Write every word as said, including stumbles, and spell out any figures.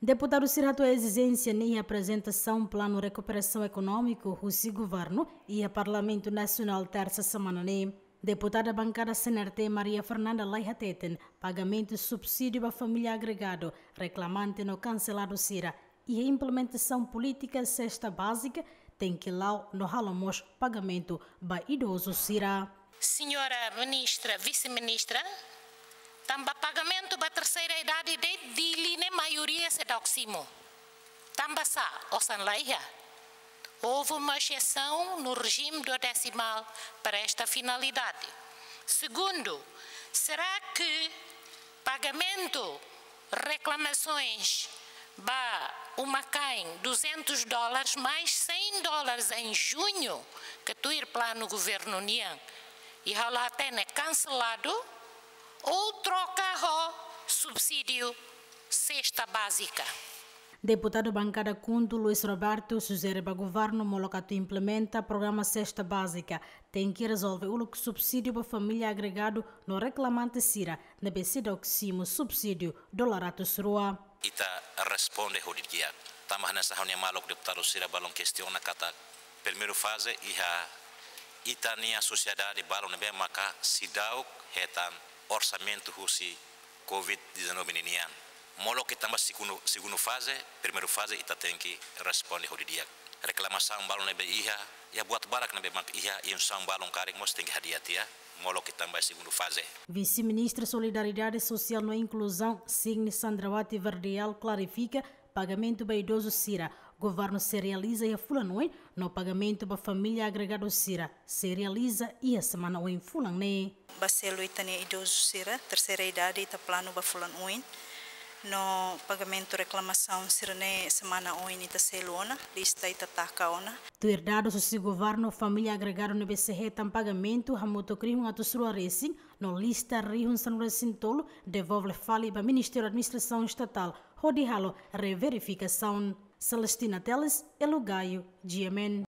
Deputadu sira hato'o ezijénsia ne'e iha aprezentasaun planu rekuperasaun ekonómiku husi governu iha Parlamentu Nasionál tersa semana ne'e. Deputada bankada C N R T Maria Fernanda Lay hateten pagamentu subsídiu ba família agregadu, reklamante no kanseladu sira iha implementasaun polítika sesta bázika tenke la'o no halo mós pagamentu ba idozu sira. Senhora Ministra, Vice-Ministra, tanba pagamentu ba terseira idade de Dili ne'e maioria seidauk simu. Tanba sá, osan la iha. Houve uma exceção no regime duodecimal para esta finalidade. Segundo, será que pagamento reklamasoens ba uma kain duzentos dólares mais cem dólares em junho, ke tuir planu governu nian, i ha'u la hatene kanseladu ou troka ho subsídiu sesta bázika? Deputadu bankada KHUNTO Luis Roberto sujere ba governu molok atu implementa programa sesta bázika, tenke rezolve uluk subsídiu ba família agregadu no reklamante sira ne'ebé seidauk simu subsídiu dolar ratus rua. Ita responde hodi di'ak. Tanba hanesan ha'u-nia maluk deputadu sira balun kestiona katak primeiru faze iha ita-nia sosiedade balun ne'ebé maka seidauk hetan orsamentu husi covid dezanove ninian. Molok ita ba segundu, segundu faze, primeiru faze ita tenke responde hodi di'ak. Reklamasaun balun ne'ebé iha, iha buat barak ne'ebé mak iha, i unsaun balun karik mós tenke hadi'a tiha, molok ita ba segundu faze. Vise-Ministra Solidariedade Sosiál no Inkluzaun, Signy Sandrawati Verdial, klarifika pagamentu ba idozu sira governu sei realiza iha fulan oin, no pagamentu ba família agregadu sira sei realiza iha semana oin fulan ne'e. Ba selu ita-nia idozu sira terseira idade ita planu ba fulan oin, no pagamentu reklamasaun sira-ne'e semana oin ita selu ona, lista ita taka ona. Tuir dadus husi governu, família agregadu ne'ebé sei hetan pagamentu hamutuk rihun atus rua resin, no lista rihun sanulu resin tolu, devolve fali ba Ministériu Administrasaun Estatál hodi halo reverifikasaun. Celestina Teles, Elo Gaio, G M N.